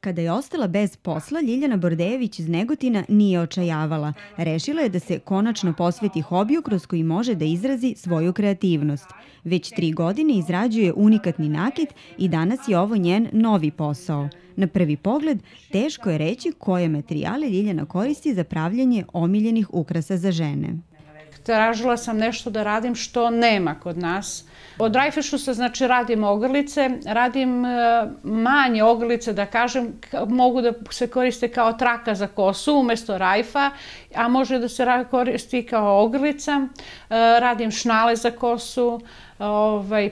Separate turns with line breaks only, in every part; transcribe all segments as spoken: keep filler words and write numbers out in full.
Kada je ostala bez posla, Ljiljana Bordejević iz Negotina nije očajavala. Rešila je da se konačno posveti hobiju kroz koji može da izrazi svoju kreativnost. Već tri godine izrađuje unikatni nakit i danas je ovo njen novi posao. Na prvi pogled, teško je reći koje materijale Ljiljana koristi za pravljenje omiljenih ukrasa za žene.
Tražila sam nešto da radim što nema kod nas. Od rajfešusa znači radim ogrlice, radim manje ogrlice, da kažem, mogu da se koriste kao traka za kosu umjesto rajfa, a može da se koristi kao ogrlica. Radim šnale za kosu,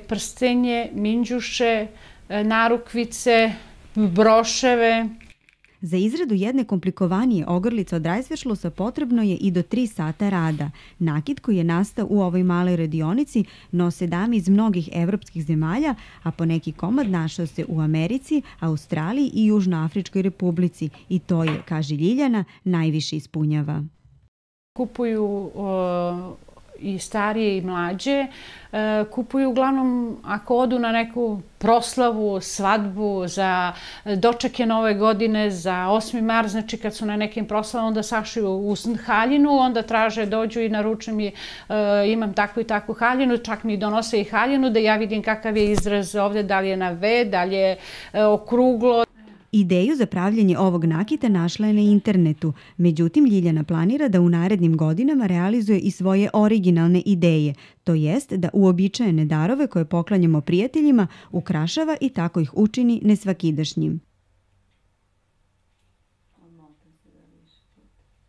prstenje, minđuše, narukvice, broševe.
Za izradu jedne komplikovanije ogrlice od rajsveštlusa potrebno je i do tri sata rada. Nakit koji je nastao u ovoj maloj radionici nose dame iz mnogih evropskih zemalja, a poneki komad našao se u Americi, Australiji i Južnoafričkoj republici. I to je, kaže Ljiljana, najviše ispunjava.
Kupuju i starije i mlađe, kupuju uglavnom ako odu na neku proslavu, svadbu, za dočeke nove godine, za osmi mart, znači kad su na nekim proslavama, onda sašiju u haljinu, onda traže, dođu i naruče mi imam takvu i takvu haljinu, čak mi donose i haljinu da ja vidim kakav je izraz ovde, da li je na V, da li je okruglo.
Ideju za pravljanje ovog nakita našla je na internetu, međutim Ljiljana planira da u narednim godinama realizuje i svoje originalne ideje, to jest da uobičajene darove koje poklanjamo prijateljima ukrašava i tako ih učini nesvakidašnjim.